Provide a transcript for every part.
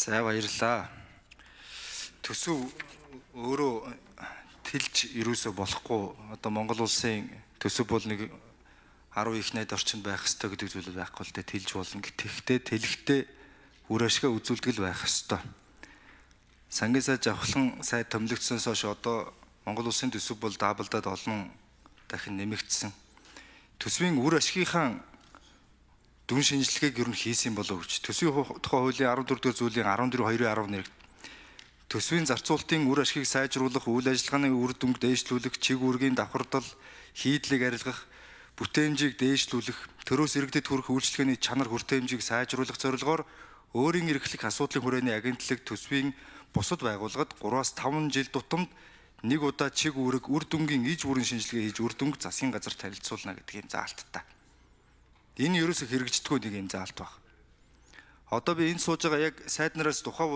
За баярлалаа. Төсөв өөрөө тэлж юусоо болохгүй. Одоо Монгол улсын төсөв бол нэг 10 их найд орчинд байх ёстой гэдэг зүйл байхгүй л дээ, тэлж болно. Гэхдээ тэлэхдээ үр ашгаа үзүүлдэг л байх ёстой. Сангийн сайд авахлан сайд томилогдсоноос хойш одоо Монгол улсын төсөв бол даблдаад олон дахин нэмэгдсэн. Төсвийн үр ашгийнхаа дүн шинжилгээг ер нь хийсэн болов гэж. Төсвийн тухай хуулийн 14 дугаар зүйлийн 14.2.11 төсвийн зарцуулалтын үр ашгийг сайжруулах, үйл ажиллагааны үр дүнг дээшлүүлэх, чиг үүргийн давхардал, хийдлийг арилгах, бүтээмжийг дээшлүүлэх, төрөөс иргэдэд хүрэх үйлчлэгээний чанар хүртээмжийг сайжруулах зорилгоор өөрийн эрхлэх асуудлын хүрээний агентлаг төсвийн бусад байгууллагад 3-5 жил тутамд нэг удаа чиг үүрэг үр дүнгийн иж бүрийн шинжилгээ хийж үр дүнг засгийн газар танилцуулна гэдэг юм заалттай. Энэ ерөөсө хэрэгждэггүй нэг юм заалт баг. Одоо би энд сууж байгаа яг сайд нараас тухай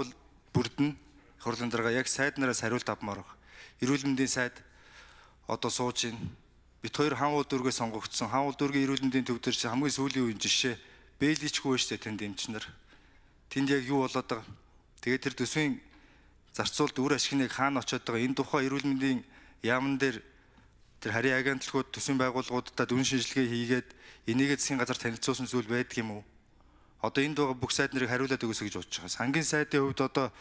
бүрдэн хурлын дарга яг сайд нараас хариулт авмаар баг. Эрүүл мэндийн сайд одоо сууж ийн. Бид хоёр хаан уул дүүргээ сонгогдсон. Хаан уул дүүргийн эрүүл мэндийн төв дээр чи хамгийн сүүлийн үеийн жишээ бэличгүй шүү дээ тэнд эмчнэр. Тэнд яг юу болоод байгаа. Тэгээд тэр төсвийн зарцуулалт үр ашигныг хаана очиод байгаа. Энэ тухай эрүүл мэндийн яамн дээр тэр харийн агентлагууд төсвийн байгууллагуудад дүн шинжилгээ хийгээд энийгээ засгийн газар танилцуулсан зүйл байдаг юм уу? Одоо энд байгаа бүх сайд нарыг хариулаад өгөөсэй гэж бодож байгаа. Сангийн сайдын хувьд одоо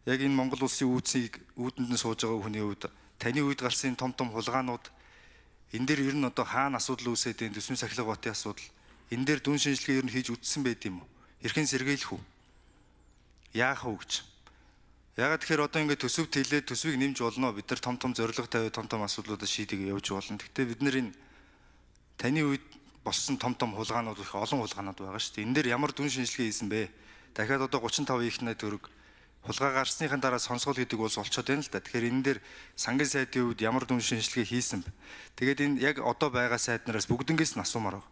яг энэ Монгол улсын үүсийг үүдэнд нь сууж байгаа хүний хувьд таны үед гарсан том хулгаанууд энэ дээр ер нь одоо хаана асуудал үүсээд энэ төсвийн сахилга батын асуудал энэ дээр дүн шинжилгээ ер нь хийж үтсэн байд юм уу? Хэрхэн сэргийлэх үү? Яах вэ гэж. Ягаад тэгэхээр одоо ингээд төсөвт хэлээд төсвийг нэмж болно. Бид нар том зорилго тавиад том асуудлуудад шийдэг явж болно. Гэхдээ бид нар энэ таны үед болсон том хулгаанууд их олон хулгаанууд байгаа шүү дээ. Энэ дээр ямар дүн шинжилгээ хийсэн бэ? Дахиад одоо 35 их найд төгрөг хулгай гарсныхаа дараа сонсгол гэдэг улс олцоод байна л да. Тэгэхээр энэ дээр сангийн сайдын үед ямар дүн шинжилгээ хийсэн бэ? Тэгээд энэ яг одоо байгаа сайд нараас бүгднгээс нь асуумаар байна.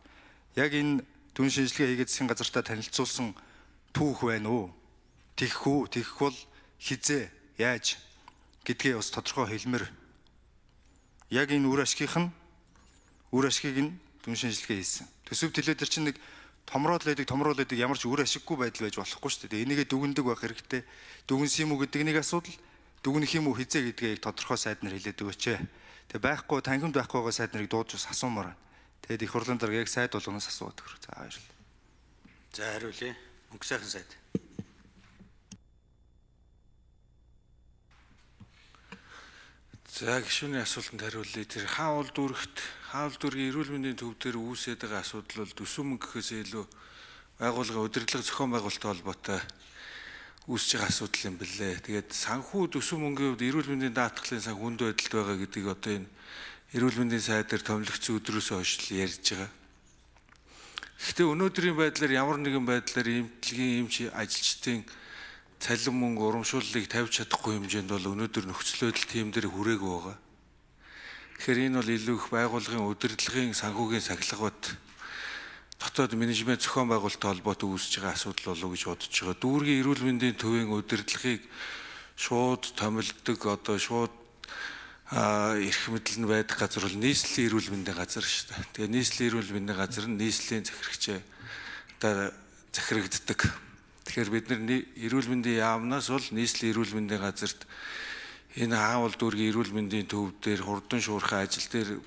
Яг энэ дүн шинжилгээ хийгээд засгийн газартаа танилцуулсан түүх байна уу? Тэгэх бол хизээ яаж гэдгээ бас тодорхой хэлмээр. Яг энэ үр ашгийг нь дүн шинжилгээ хийсэн. Төсөв төлөө төр чинь нэг томроод лээдэг ямар ч үр ашиггүй байдал байж болохгүй шүү дээ. Энийгээ дүгндэг байх хэрэгтэй. Дүгнс юм уу гэдэг нэг асуудал, дүгнэх юм уу хизээ гэдгээ тодорхой сайд нар хэлээд өгөөч. Тэгээ байхгүй танхимд байхгүй байгаа сайд нарыг дуудаж бас асуумаар байна. Тэгээд их хурлын дарга яг сайд болгоноос асууад өгөх. За баярлалаа. За хариулъя. Мөнх сайхан сайд. За гишүүний асуултанд хариулъя. Тэр хаан уул дүүргийн эрүүл мэндийн төв дээр үүсээд байгаа асуудал бол төсөв мөнгөхөөс илүү байгууллагын удирдлага зохион байгуулалттай холбоотой үүсэж байгаа асуудал юм билээ. Тэгээд санхүү төсөв мөнгөний хувьд эрүүл мэндийн даатгалын сан хүнд байдалд байгаа гэдгийг одоо энэ эрүүл мэндийн сайд дээр томилогдсон өдрөөс хойш л ярьж байгаа. Гэхдээ өнөөдрийн байдлаар ямар нэгэн байдлаар эмчилгээний эмч ажилчдын цалин мөнгө урамшууллыг тавьж чадахгүй хэмжээнд бол өнөөдөр нөхцөл байдал тийм дээр хүрээгүй байгаа. Тэгэхээр энэ бол илүү их байгууллагын удирдлагын санхүүгийн сахилгавд дотоод менежмент зохион байгуулалттай холбоотой үүсэж байгаа асуудал болов уу гэж бодож байгаа. Дүүргийн эрүүл мэндийн төвийн удирдлагыг шууд томилдог одоо шууд эрх мэдэл нь байдаг газар бол нийслэлийн эрүүл мэндийн газар шүү дээ. Тэгээ нийслэлийн эрүүл мэндийн газар нь нийслэлийн захирагчаа одоо захирагддаг. Тэгэхээр бид нар эрүүл мэндийн яамнаас бол нийслэлийн эрүүл мэндийн газарт энэ хаан уул дүүргийн эрүүл мэндийн төв дээр хурдан шуурхай ажил дээр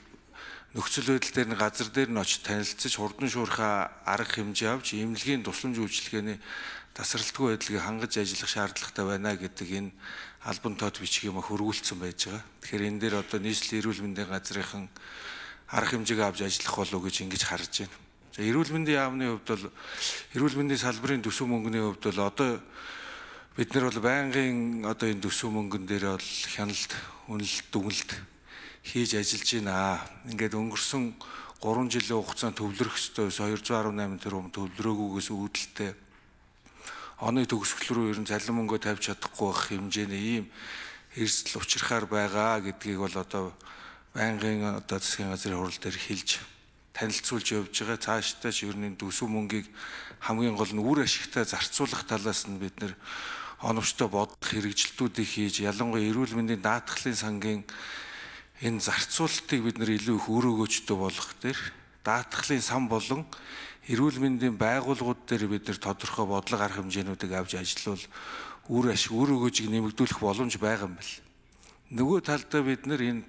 нөхцөл байдал дээр нь газар дээр нь очиж танилцж хурдан шуурхай арга хэмжээ авч эмнэлгийн тусламж үйлчилгээний тасралтгүй байдлыг хангаж ажиллах шаардлагатай байна гэдэг энэ албан тод бичиг юм хөрвүүлсэн байж байгаа. Тэгэхээр энэ дээр одоо нийслэлийн эрүүл мэндийн газрынхан арга хэмжээг авч ажиллах болов гэж ингэж харж байна. За эрүүл мэндийн яамны хувьд бол эрүүл мэндийн салбарын төсөв мөнгөний хувьд бол одоо бид нар бол байнгын одоо энэ төсөв мөнгөн дээр бол хяналт, үнэлт, дүгнэлт хийж ажиллаж байна. Ингээд өнгөрсөн 3 жилийн хугацаанд төвлөрөх ёстой 218 тэрбум төвлөрөөгүйгээс үүдэлтэй оны төгсгөл рүү ер нь цалин мөнгөө тавьж чадахгүй байх хэмжээний ийм эрсдэл учрахаар байгаа гэдгийг бол одоо байнгын одоо засгийн газрын хурал дээр хэлж танилцуулж явж байгаа. Цаашдаа ч ер нь төсөв мөнгийг хамгийн гол нь үр ашигтай зарцуулах талаас нь бид нэр оновчтой бодох хэрэгжилтүүдийг хийж ялангуяа эрүүл мэндийн даатгалын сангийн энэ зарцуулалтыг бид нэр илүү их өөр өгөөжтэй болгох дээр даатгалын сан болон эрүүл мэндийн байгууллагууд дээр бид нар тодорхой бодлого арга хэмжээнүүдийг авч ажиллавал үр өгөөжийг нэмэгдүүлэх боломж байгаа юм байна. Нөгөө талдаа бид нар энэ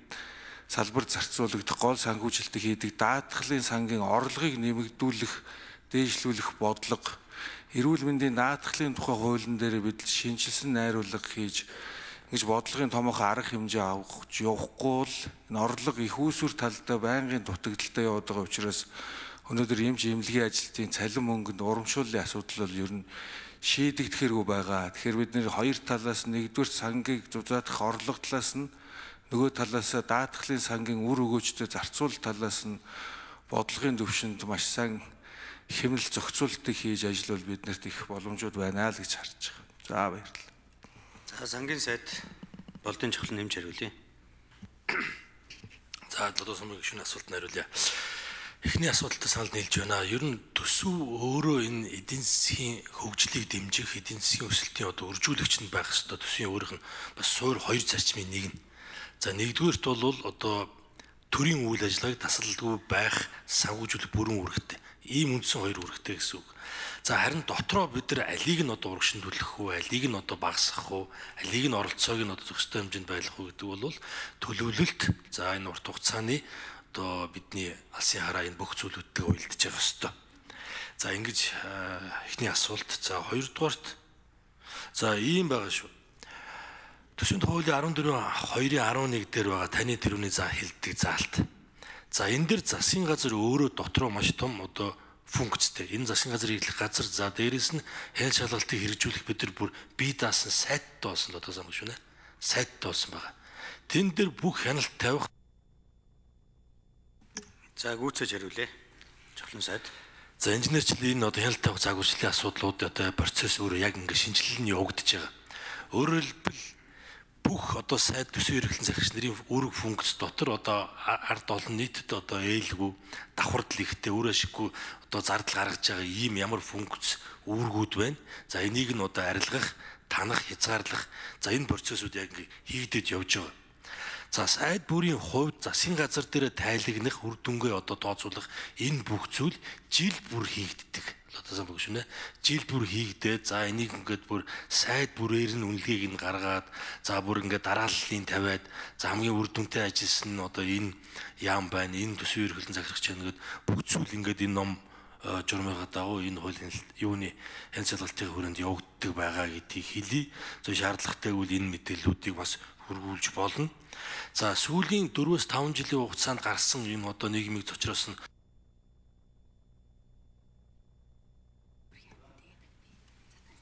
салбарт зарцуулагдах гол санхүүжилтийг хийдэг даатгалын сангийн орлогыг нэмэгдүүлэх, дээшлүүлэх бодлого, эрүүл мэндийн даатгалын тухай хуулийн дээр бид шинжилсэн найруулга хийж ингэж бодлогын томоохон арга хэмжээ авах явахгүй бол энэ орлого их үүсвэр талдаа байнгын дутагдaltaй яваад байгаа учраас өнөөдөр эмч эмнэлгийн ажилтны цалин мөнгөнд урамшууллын асуудал бол ер нь шийдэгдэхэргүй байгаа. Тэгэхээр бид нэр хоёр талаас нэгдүгээр сангийг зузаадах орлого талаас нь нөгөө талаас даатгалын сангийн үр өгөөжтэй зарцуул талаас нь бодлогын төвшөнд маш сайн хэмнэл зохицуултыг хийж ажиллавал биднэрт их боломжууд байна л гэж харж байгаа. За баярлалаа. За сангийн сайд болдын чухал нэмж хариулъя. За додоо сумын гишүүний асуултанд хариулъя. Эхний асуудалтай санал нийлж байна. Ер нь төсөв өөрөө энэ эдийн засгийн хөгжлийг дэмжих, эдийн засгийн өсөлтийн үржүүлэгч нь байх ёстой. Төсвийн өөрийнх нь бас суур хоёр зарчмын нэг нь. За нэгдүгээрт бол одоо төрийн үйл ажиллагааг тасалдгүй байх санхүүжүүлэх бүрэн үүрэгтэй. Ийм үндсэн хоёр үүрэгтэй гэсэн үг. За харин дотроо бид нар алийг нь урагшин төлөх үү, алийг нь багасгах уу, алийг нь оролцоог нь зөвхөстэй хэмжээнд байлгах уу гэдэг бол төлөвлөлт. За энэ урт хугацааны бидний алсын хараа энэ бүх зүйлүүдтэй уялдаж явах ёстой. За ингэж эхний асуулт. За хоёрдугаарт за ийм байгаа шүү. Төсвийн хуулийн 14.2.11 дээр байгаа таны тэрүүний за хэлдэг заалт. За энэ дэр засгийн газар өөрөө дотроо маш том функцтэй. Энэ засгийн газар хийх газар за дээрээс нь хяналт шалгалтыг хэрэгжүүлэх бид нар бүр бие даасан сайттай болсон л сайн шүү нэ. Сайттай болсон байгаа. Тэн дээр бүх хяналт тавих. За гүйцэж хариулъя. Чухлын сайд. За инженерчлэн энэ хяналт тавих загварчлалын асуудлууд процесс өөрөө яг ингэ шинжилэл нь явагдаж байгаа. Өөрөөр хэлбэл бүх сайд төсвийн эрхлэн захирагч нарын үүрэг функц дотор ард олон нийтэд ээлгүй давхардл ихтэй өөр ашиггүй зардал гаргаж байгаа ийм ямар функц үүргүүд байна. За энийг нь арилгах, танах, хязгаарлах за энэ процессыг яг хийгдэж явж байгаа. За сайд бүрийн хувьд засгийн газар дээр тайлагнах, үр дүнгээ тооцоолох энэ бүх зүйл жил бүр хийгддэг. Сайн баг шүү нэ. Жил бүр хийгдээд за энийг ингээд бүр сайд бүрээр нь үнэлгээг нь гаргаад за бүр ингээд дарааллын тавиад за хамгийн үр дүнтэй ажилласан нь энэ яам байна, энэ төсвийн эрхлэн захирагч нэгэд бүх зүйл ингээд энэ ном журмынхаа дагуу энэ хуулийн юуны хяналт шалгалтын хүрээнд явагддаг байгаа гэдгийг хэлье. За шаардлагатай үл энэ мэдээллүүдийг бас хөргүүлж болно. За сүүлийн 4-5 жилийн хугацаанд гарсан энэ нийгмийг зочроос нь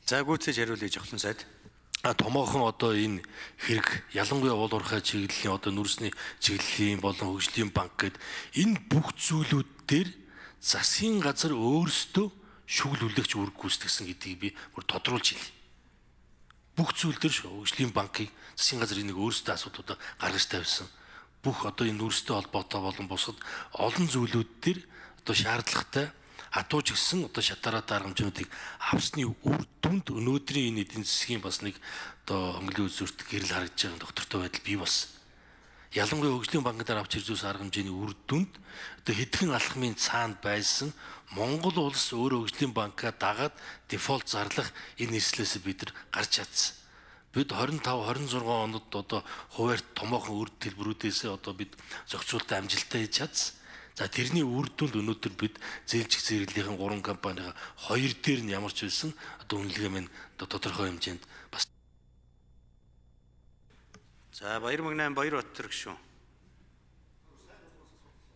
за гүйцэж хариулъя жохлон сайд. Томоохон энэ хэрэг ялангуяа уул уурхай чиглэлийн нүрсний чиглэлийн болон хөгжлийн банк гэд энэ бүх зүйлүүд дээр засгийн газар өөрсдөө шүглүүлэгч үүрэг гүйцэтгсэн гэдгийг би бүр тодруулж хэлье. Бүх зүйл дээр хөгжлийн банкыг засгийн газар энийг өөрсдөө асуудлуудаа гаргаж тавьсан. Бүх энэ нүрстэй холбоотой болон бусад олон зүйлүүд дээр шаардлагатай хатууч гисэн шатаараа дарамжнуудыг авсны үр дүнд өнөөдрийн энэ эдийн засгийн бас нэг хөнгөлөлийн үзүүрт гэрэл харагдаж байгаа доктортой байдал бий болсон. Ялангуяа хөгжлийн банкнаар авч ирж байгаа арга хэмжээний үр дүнд хэдхэн алхмын цаанд байсан Монгол улс өөрөө хөгжлийн банкаа дагаад дефолт зарлах энэ эрслээс бид нар гарч чадсан. Бид 25-26 онод хуваарь томоохон үр төлбөрүүдээс бид зохицуултаа амжилттай хийж чадсан. За тэрний үр дүнд өнөөдөр бид зээлжих зэрэглэлийн 3 компанийн 2 дээр нь ямар ч байсан үнэлгээ минь тодорхой хэмжээнд бас. За Баяр Мөнх 8 Баяр Баттар гүшүүн.